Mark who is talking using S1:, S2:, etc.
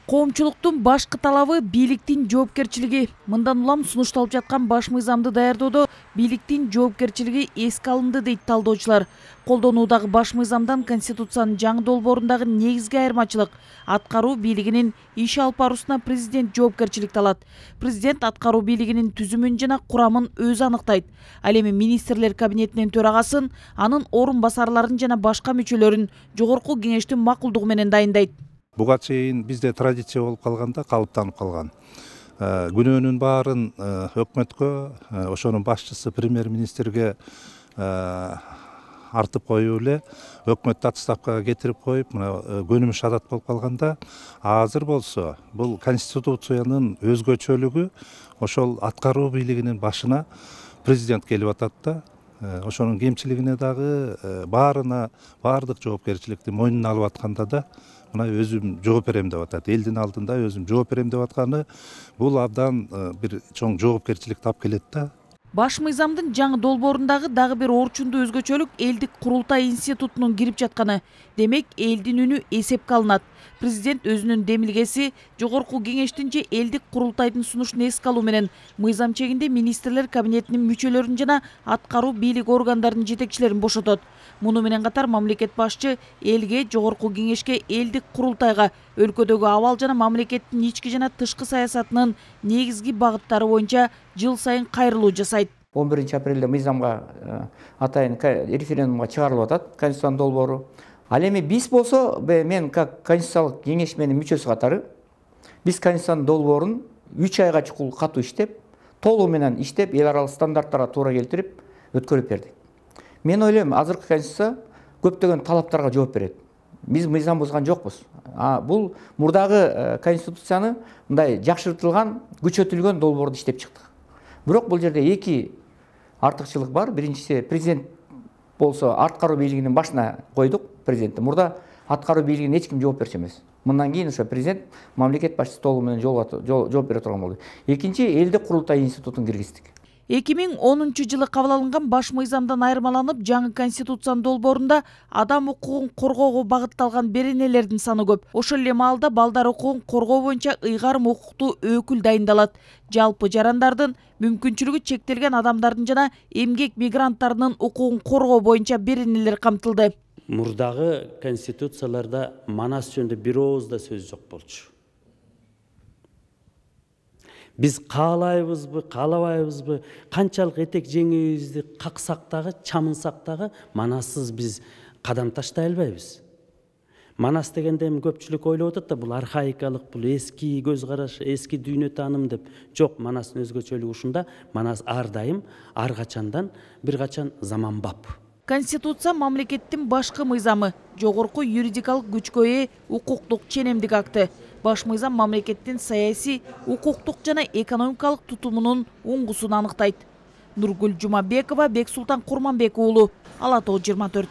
S1: Коомчулуктун башкы талабы бийликтин жоопкерчилиги. Мындан улам сунушталып жаткан баш мыйзамды даярдоодо бийликтин жоопкерчилиги эске алынды дейт талдоочулар. Колдонуудагы баш мыйзамдан Конституциянын жаңы долбоорундагы негизги айырмачылык аткаруу бийлигинин иш алып баруусуна президент жоопкерчиликти алат. Президент аткаруу бийлигинин түзүмүн жана курамын өзү аныктайт. Ал эми министрлер кабинетинин төрагасын, анын орун басарларын жана башка мүчөлөрүн жогорку кеңештин макулдугу менен дайындайт.
S2: Буга чейин бизде традиция болуп калганда, калыптанып калган. Күнөөнүн баарын өкмөткө, ошонун башчысы премьер-министрге артып коюу эле, өкмөттү отставкага кетирип коюп, мына көнүмүш адат болуп калганда, азыр болсо бул конституциянын өзгөчөлүгү ошол аткаруу бийлигинин башына президент келип атат да. Ошонун кемчилигине дагы баардык жоопкерчиликти мойнуна алып атканда да мына өзүм жооп берем деп атат. Элдин алдында өзүм жооп берем деп атканы бул абдан бир чоң жоопкерчилик тап келет да.
S1: Баш мыйзамдын жаңы долбоорундагы дагы бир орчундуу өзгөчөлүк элдик курултай институтунун кирип жатканы. Демек, элдин үнү эсепке алынат. Президент өзүнүн демилгеси жогорку кеңештин же элдик курултайдын сунушун эске алуу менен мыйзам чегинде министрлер кабинетинин мүчөлөрүн жана аткаруу бийлик органдарынын жетекчилерин бошотот. Муну менен катар мамлекет башчы элге, жогорку кеңешке, элдик курултайга өлкөдөгү абал жана мамлекеттин ички жана тышкы саясатынын негизги багыттары боюнча жыл сайын кайрылуу жасайт.
S3: 11-апрелде мыйзамга атайын референдумга чыгарылып атат Конституциянын долбоору. Ал эми биз болсо, мен как конституциялык кеңеш менин мүчөсү катары, биз Конституциянын долбоорун 3 айга чукул катуу иштеп, толугу менен иштеп, эл аралык стандарттарга туура келтирип өткөрүп бердик. Мен ойлойм, азыркы Конституция көптөгөн талаптарга жооп берет. Биз мыйзам бузган жокпуз. Бул мурдагы Конституцияны мындай жакшыртылган, күчөтүлгөн долбоорду иштеп чыктык. Бирок бул жерде эки артыкчылык бар. Биринчиси, президент болсо аткаруу бийлигинин башына койдук президентти. Мурда аткаруу бийлигине эч ким жооп берчү эмес. Мындан кийин ошо президент мамлекет башчысы толугу менен жооп бере турган болду. Экинчи, элдик курултай институтун киргиздик.
S1: 2010 кабыл алынган баш мыйзамдан айырмаланып, жаңы Конституциянын долбоорунда адам укугун коргоого багытталган беренелердин саны көп. Ошол эле маалда балдар укугун коргоо боюнча ыйгарым укуктуу өкүл дайындалат. Жалпы жарандардын, мүмкүнчүлүгү чектелген адамдардын жана эмгек мигранттарынын укугун коргоо боюнча беренелер камтылды.
S4: Мурдагы конституцияларда манас жөнүндө бир ооз да сөз жок болчу. Биз каалайбызбы, каалабайбызбы, канчалык этек жеңибизди каксак дагы, чамынсак дагы манассыз биз кадам таштай албайбыз. Манас дегенде эми көпчүлүк ойлоп атат да, бул архаикалык, бул эски көз караш, эски дүйнө тааным деп. Жок, манастын өзгөчөлүгү ушунда. Манас ар дайым, ар качандан бир качан заманбап.
S1: Конституция мамлекеттин башкы мыйзамы, жогорку юридикалык күчкө ээ укуктук ченемдик акты. Баш мыйзам мамлекеттин саясий, укуктук жана экономикалык тутумунун уңгусун аныктайт. Нургүл Жумабекова, Бексултан Курманбек уулу, Ала Тоо 24.